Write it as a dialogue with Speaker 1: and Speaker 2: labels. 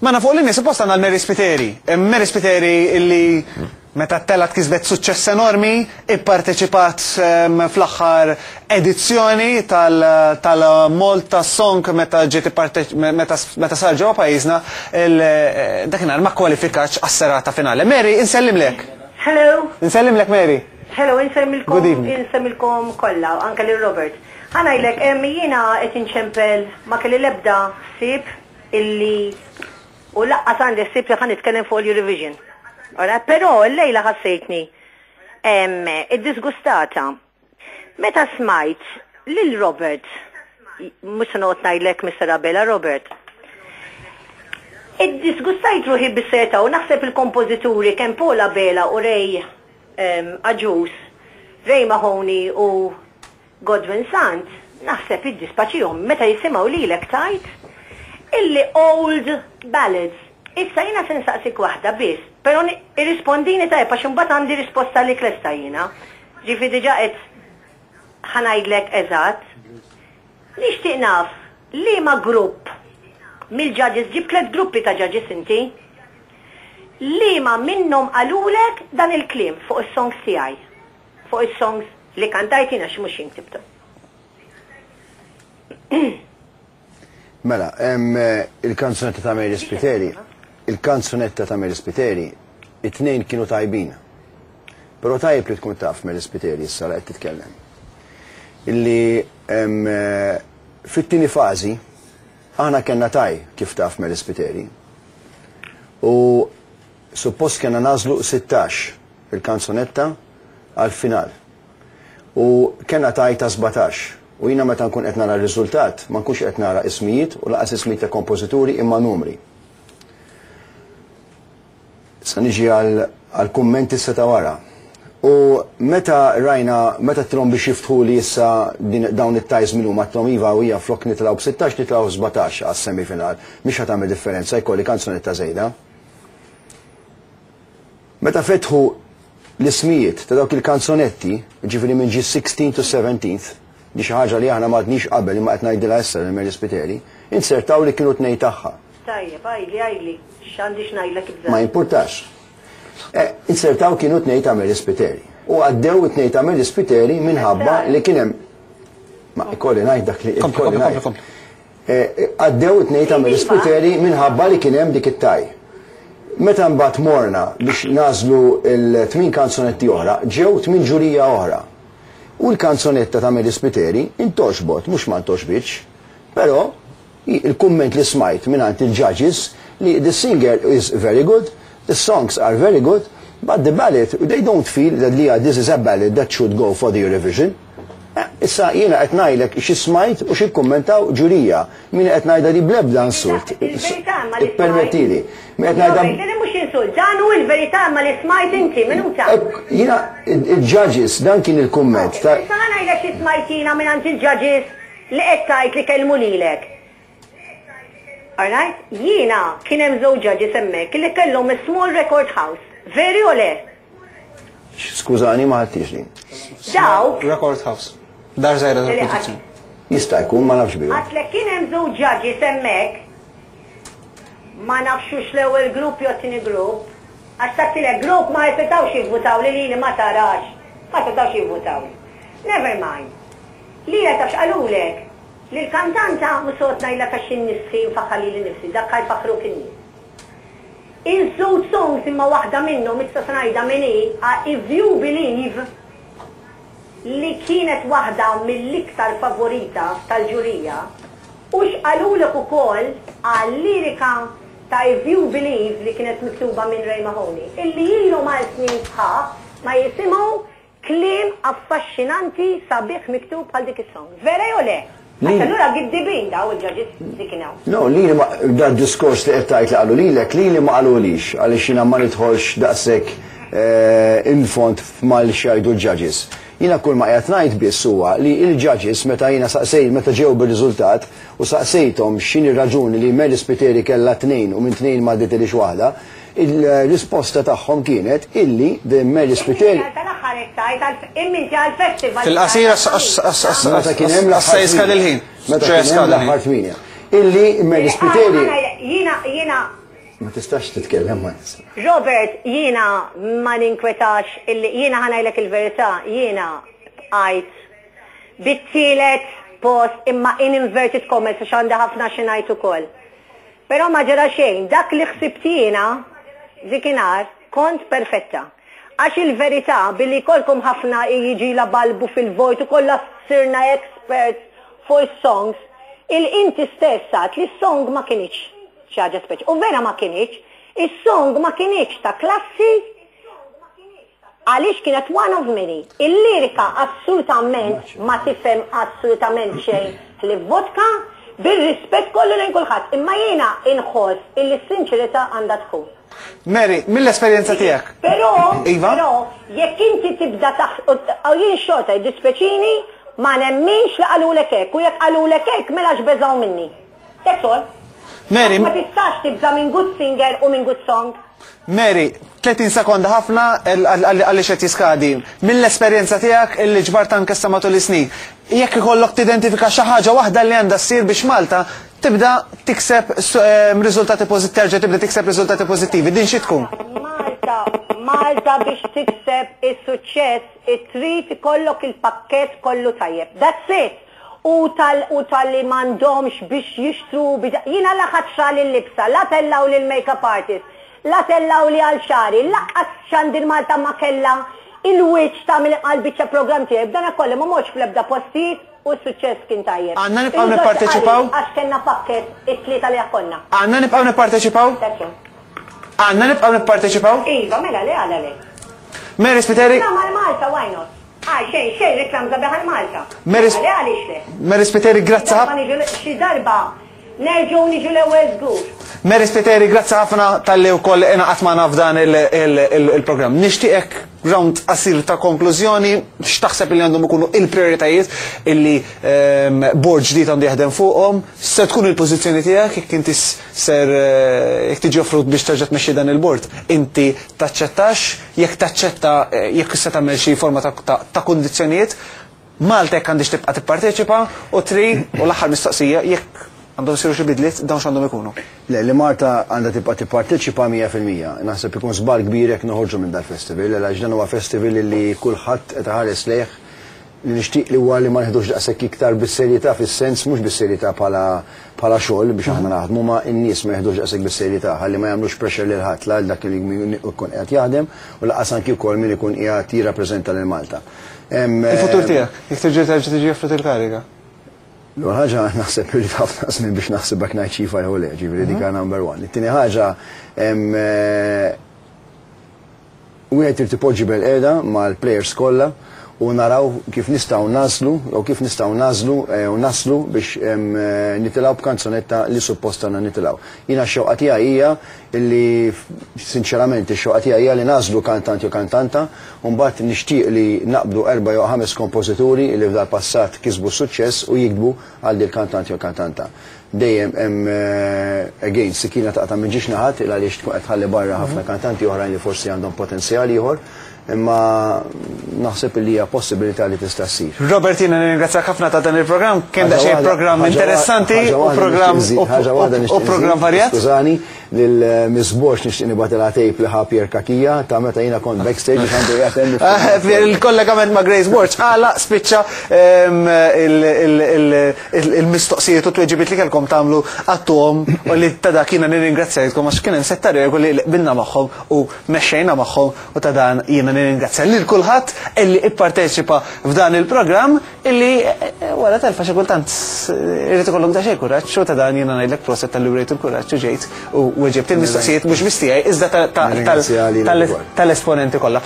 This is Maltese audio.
Speaker 1: Magħna fuq l-linja suppost għandna l-Mary Spiteri. Mary Spiteri illi meta telgħet kisbet suċċess enormi, ipparteċipat fl-aħħar edizzjoni tal-Malta Song meta ġiet meta sar ġewwa pajjiżna dakinhar ma kwalifikatx għas-serata finali. Mary, insellimlek.
Speaker 2: Hello.
Speaker 1: Insellimlek Mary.
Speaker 2: Hello, insellmilkom. Good evening. Insellmilkom kollha, anke lil Robert. Ħa ngħidlek, jiena qed inċempel ma kelli l-ebda ħsieb illi u lanqas għandi ħsieb li ħa nitkellem fuq l-Eurovision. Ora, però l-lejla ħassejtni iddisgustata. Meta smajt lil Robert, mhux se noqgħod ngħidlek Mr. Abela Robert, iddisgustajt ruħi bis-serjetà u naħseb il-kompożituri kemm Paul Abela u Ray Agius, Ray Mahoney u Godwin Sant, naħseb jiddispaċihom meta jisimgħu lilek tgħid illi old ballads. Issa jiena se nsaqsik waħda biss, però irrispondini tajjeb għax imbagħad għandi risposta għalik lesta jiena. Ġifieri diġà qed ħa ngħidlek eżatt. Nixtieq naf liema grupp mill-judges, ġibt tlett gruppi ta' judges inti, liema minnhom qalulek dan il-kliem fuq is-songs tiegħi. Fuq is-songs li kantajt jien għax mhux jien ktibthom.
Speaker 3: Mela, il-kanzunetta ta' Mary Spiteri, il-kanzunetta ta' Mary Spiteri, it-tnejn kienu tajbin. Però tajjeb li tkun taf Mary Spiteri issa li qed titkellem. Illi fit-tieni fażi aħna kellna tie kif taf Mary Spiteri. U suppost kellna nagħżlu 16 il-kanzunetta għall-final. U kellna tie ta' 17. U jiena meta nkun qed nara r-riżultat ma nkunx qed nara ismijiet u lanqas ismijiet ta' kompożituri imma numri. Issa niġi għall-kumment issa ta' wara. U meta rajna, meta għedtilhom biex jiftħuli issa dawn it-ties min huma, għedtilhom iva u hija flok nitilgħu b'16 nitilgħu 17 għas-semifinal. Mhix ħa tagħmel differenza jkolli kanzunetta żejda. Meta fetħu l-ismijiet ta' dawk il-kanzonetti, jiġifieri minn ġie 16 to 17th, di xi ħaġa li aħna m'għadniex qabel imma qed ngħidilha issa lil Mary Spiteri, inzertaw li kienu tnejn tagħha.
Speaker 2: Tajjeb, għidli, għidli, x'għandi x'ngħidlek ibża'.
Speaker 3: Ma jimpurtax. Eh, inzertaw kienu tnejn ta' Mary Spiteri. U għaddew it-tnejn ta' Mary Spiteri minħabba li kien hemm Ma ikolli ngħid dak li ikolli ngħid. Għaddew it-tnejn ta' Mary Spiteri minħabba li kien hemm dik it-tie. Meta mbagħad morna biex nagħżlu l-tmien kanzunetti oħra, ġew tmien ġurija oħra. U l-kanzunetta ta' Mary Spiteri intgħoxbot, mhux ma ntgħoxbitx. Però il-kumment li smajt mingħand il-judges li the singer is very good, the songs are very good, but the ballad, they don't feel that li this is a ballad that should go for the Eurovision. Issa jiena qed ngħidlek xi smajt u xi kkummentaw ġurija. Min qed ngħidha di bl-ebda insult.
Speaker 2: Il-verità imma li smajt.
Speaker 3: Ippermettili. Min qed ngħidha.
Speaker 2: Le mhux insult, dan hu l-verità imma li smajt inti, minuta.
Speaker 3: Jiena il-judges dan kien il-kumment ta'.
Speaker 2: Issa ħa ngħidlek xi smajt jiena mingħand il-judges li qed tgħid li kellmu lilek. Alright? Jiena kien hemm żewġ judges hemmhekk li kellhom a small record house. Veri o le?
Speaker 3: Skużani ma ħadtix din.
Speaker 2: Dawk.
Speaker 1: Record house. Dar żgħira tal-produzzjoni.
Speaker 3: Jista' jkun ma nafx bihom.
Speaker 2: Għatlek kien hemm żewġ judges hemmhekk ma nafx hux l-ewwel grupp jew t-tieni grupp, għax tat-tielet grupp ma setgħux jivvutaw li lili ma tarax, ma setgħux jivvutaw. Never mind. Lilek taf x'qalulek? Li l-kantanta, mhux se noqgħod ngħidlek għax jien nistħi nfaħħar lili nnifsi, dak ħa jfaħħruk in-nies. Iż-żewġ songs imma waħda minnhom issa se ngħidha min hi, If You Believe li kienet waħda mill-iktar favorita tal-ġurija u x'qalulek ukoll għal-lirika ta' If You Believe li kienet miktuba minn Ray Mahoney illi ilhom għal snin sħaħ ma jisimgħu Kliem affaxxinanti sabiħ miktub bħal dik is-song. Vera jew le? Għax allura giddibin daw il-judges li kien hawn.
Speaker 3: No, lili ma, dad-diskors li qed tgħid li qalu lilek, lili ma qalulix, għaliex jiena ma nidħolx daqshekk in fond f'mal x'jgħidu l-judges. Jiena kull ma qiegħed ngħid biss huwa li l-judges meta jiena saqsej, meta ġew bir-riżultat u saqsejthom x'inhi r-raġuni li Mary Spiteri kellha tnejn u minn tnejn ma għadditilhiex waħda, Il-risposta tagħhom kienet illi the Mary Spiteri.
Speaker 2: Tal-aħħar qed tgħid għal imma inti għall-festival.
Speaker 1: Fil-qasir
Speaker 3: Meta kien hemm
Speaker 1: l-aħħar jiskadi l-ħin.
Speaker 3: Meta kien hemm l-aħħar tmienja. Illi Mary Spiteri.
Speaker 2: Jiena jiena.
Speaker 3: Ma tistax titkellem ma' nies.
Speaker 2: Robert, jiena ma ninkwetax illi jiena ħa ngħidlek il-verità, jiena bqajt bit-tielet post imma in inverted commas għax għandi ħafna xi ngħid ukoll. Però ma ġara xejn, dak li ħsibt jiena dikinhar kont perfetta. Għax il-verità billi jkollkom ħafna jiġi balbu fil-vojt u kollha sirna experts fuq is-songs, il-inti stess għedt li s-song ma kinitx xi ħaġa speċi. U vera ma kinitx, is-song ma kinitx ta' klassi għaliex kienet one of many. Il-lirika assolutament ma tifhem assolutament xejn li vodka bir-rispett kollu lejn kulħadd. Imma jiena inħoss illi s-sinċerità għandha tkun.
Speaker 1: Mary, mill-esperjenza tiegħek.
Speaker 2: Però,
Speaker 1: Iva?
Speaker 2: però, jekk inti tibda taħ, u jien xorta jiddispjaċini, ma nemminx li qalulek hekk, u jekk qalulek hekk mela x'beżgħu minni. That's all.
Speaker 1: Mary,
Speaker 2: Ma tistax tibża minn good singer u minn good song.
Speaker 1: Mary, 30 sekonda ħafna għaliex qed jiskadi. Mill-esperjenza tiegħek illi ġbart anke sa matul is-snin, jekk ikollok tidentifika xi ħaġa waħda li għandha ssir biex Malta tibda tikseb riżultati pożittivi, terġa' tibda tikseb riżultati pożittivi, din xi tkun?
Speaker 2: Malta, Malta biex tikseb is-suċċess trid ikollok il-pakkett kollu tajjeb. That's it. U tal u tal-li m'għandhomx biex jixtru biex jiena la ħadd xtrali l-libsa, la tellaw li l-makeup artist, la tellaw li għal xagħri, lanqas Xandir Malta ma kella il-wiċċ ta' għal biċċa program tiegħi. B'dana kollu ma mortx fl-ebda postijiet u s-suċċess kien tajjeb.
Speaker 1: Għandna nibqgħu nipparteċipaw?
Speaker 2: Għax kellna pakkett it-tlieta li konna.
Speaker 1: Għandna nibqgħu nipparteċipaw?
Speaker 2: That's all.
Speaker 1: Għandna nibqgħu nipparteċipaw?
Speaker 2: Iva, mela le għala le.
Speaker 1: Mary Spiteri?
Speaker 2: Reklam għal Malta, why not? Ah, xejn, xejn, reklam sabiħ għal Malta.
Speaker 1: Mary
Speaker 2: Le għaliex le?
Speaker 1: Mary Spiteri, grazzi
Speaker 2: Darba
Speaker 1: ħafna.
Speaker 2: niġu xi darba nerġgħu niġu l-ewwel żgur.
Speaker 1: Mary Spiteri, grazzi ħafna talli wkoll ingħaqadt magħna f'dan il-programm. Nixtieqek round qasir ta' konklużjoni, x'taħseb li għandhom ikunu il-prioritajiet illi board ġdid għandu jaħdem fuqhom, se tkun il-pożizzjoni tiegħek jekk inti ser jekk tiġi offrut biex terġa' tmexxi dan il-board, inti taċċettax, jekk taċċetta jekk se tagħmel xi forma ta' kundizzjonijiet, Malta jekk għandix tibqa' tipparteċipa u tri u l-aħħar mistoqsija jekk għandhom isiru xi bidliet dawn x'għandhom ikunu.
Speaker 3: Le, li Malta għandha tibqa' tipparteċipa 100%. Naħseb ikun żball kbir jekk noħorġu minn dal-festival, għax dan huwa festival li kulħadd qed iħares lejh li nixtieq li huwa li ma nieħdux daqshekk iktar bis-serjetà fis-sens mhux bis-serjetà bħala bħala xogħol biex aħna naħdmu ma n-nies ma jeħdux daqshekk bis-serjetà ħalli ma jagħmlux pressure lil ħadd la dak li jkun qiegħed jaħdem u lanqas anki wkoll min ikun qiegħed jirrappreżenta lil Malta.
Speaker 1: Il-futur tiegħek, jekk terġa' terġa' tiġi offrut il-kariga.
Speaker 3: L-ewwel ħaġa naħseb li ħafna żmien biex naħseb hekk ngħid xi jew le, ġifieri dik number one. It-tieni ħaġa wieħed irid ipoġġi bilqiegħda mal-players kollha u naraw kif nistgħu naslu jew kif nistgħu nażlu u naslu biex nitilgħu b'kanzunetta li suppost għandna nitilgħu. Jiena x-xewqa tiegħi hija illi sinċerament ix-xewqa tiegħi hija li nagħżlu kantant jew kantanta u mbagħad nixtieq li naqbdu erba' jew ħames kompożituri li f'dal passat kisbu suċċess u jiktbu għal dil kantant jew kantanta. Dejjem hemm again sikina taqta' minn żewġ naħat il għaliex tkun qed tħalli barra ħafna kantanti oħrajn li forsi għandhom potenzjal ieħor, imma naħseb li hija possibilità li tista' ssir.
Speaker 1: Robert, jiena nirringrazzjak ħafna ta' dan il-programm, kien daqsxejn programm interessanti u programm u programm varjat.
Speaker 3: Skużani, lil Miss Borg nixtieq nibgħatilha tape li ħa Pierre Cachia ta' meta jiena kont backstage biex għandu jgħatem.
Speaker 1: Il-kollegament ma' Grace Borg għala spiċċa il-mistoqsijiet u tweġibiet li kellkom tagħmlu għattuhom u li ta' dak jiena nirringrazzjajtkom għax kien hemm setta regoli li qbilna magħhom u mexxejna magħhom u ta' dan jiena nirringrazzja lil kulħadd illi ipparteċipa f'dan il-programm illi wara telfa xi kultant irid ikollok daqsxejn kuraġġ u ta' dan jiena ngħidlek proset talli wrejt il-kuraġġ u ġejt u weġibt il-mistoqsijiet mhux biss tiegħi iżda tal-esponenti kollha.